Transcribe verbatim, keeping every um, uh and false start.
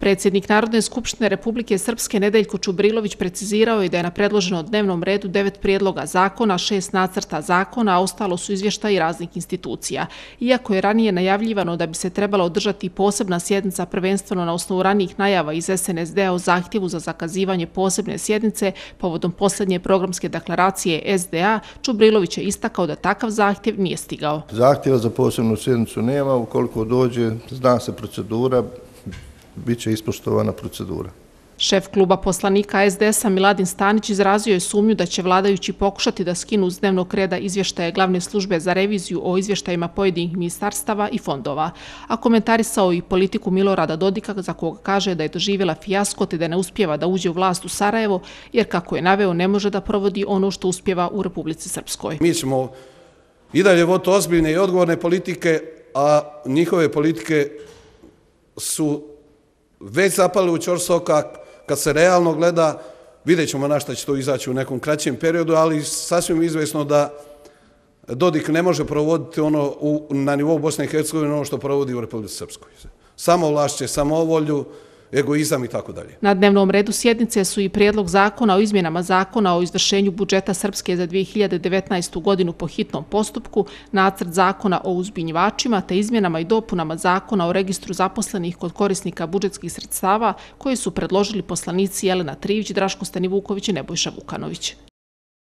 Predsjednik Narodne skupštine Republike Srpske Nedeljko Čubrilović precizirao je da je na predloženom dnevnom redu devet prijedloga zakona, šest nacrta zakona, a ostalo su izvještaji raznih institucija. Iako je ranije najavljivano da bi se trebala održati posebna sjednica prvenstveno na osnovu ranijih najava iz S N S D-a o zahtjevu za zakazivanje posebne sjednice povodom posljednje programske deklaracije S D A, Čubrilović je istakao da takav zahtjev nije stigao. Zahtjeva za posebnu sjednicu nema, ukoliko dođe, zna se procedura, bit će ispoštovana procedura. Šef kluba poslanika S D S-a Miladin Stanić izrazio je sumnju da će vladajući pokušati da skinu s dnevnog reda izvještaje glavne službe za reviziju o izvještajima pojedinih ministarstava i fondova, a komentarisao i politiku Milorada Dodika, za koga kaže da je doživjela fijasko te da ne uspijeva da uđe u vlast u Sarajevo, jer kako je naveo ne može da provodi ono što uspjeva u Republici Srpskoj. Mi ćemo i dalje voditi ozbiljne i odgovorne politike, a njihove politike su već zapali u ćorsokak. Kad se realno gleda, vidjet ćemo na šta će to izaći u nekom kraćem periodu, ali sasvim izvesno da Dodik ne može provoditi ono u, na nivou Bosne i Hercegovine ono što provodi u Republici Srpskoj. Samovlašće, samovolju, egoizam i tako dalje. Na dnevnom redu sjednice su i prijedlog zakona o izmjenama zakona o izvršenju budžeta Srpske za dvije hiljade devetnaestu. godinu po hitnom postupku, nacrt zakona o uzbunjivačima te izmjenama i dopunama zakona o registru zaposlenih kod korisnika budžetskih sredstava koje su predložili poslanici Jelena Trivić, Draško Stanivuković i Nebojša Vukanović.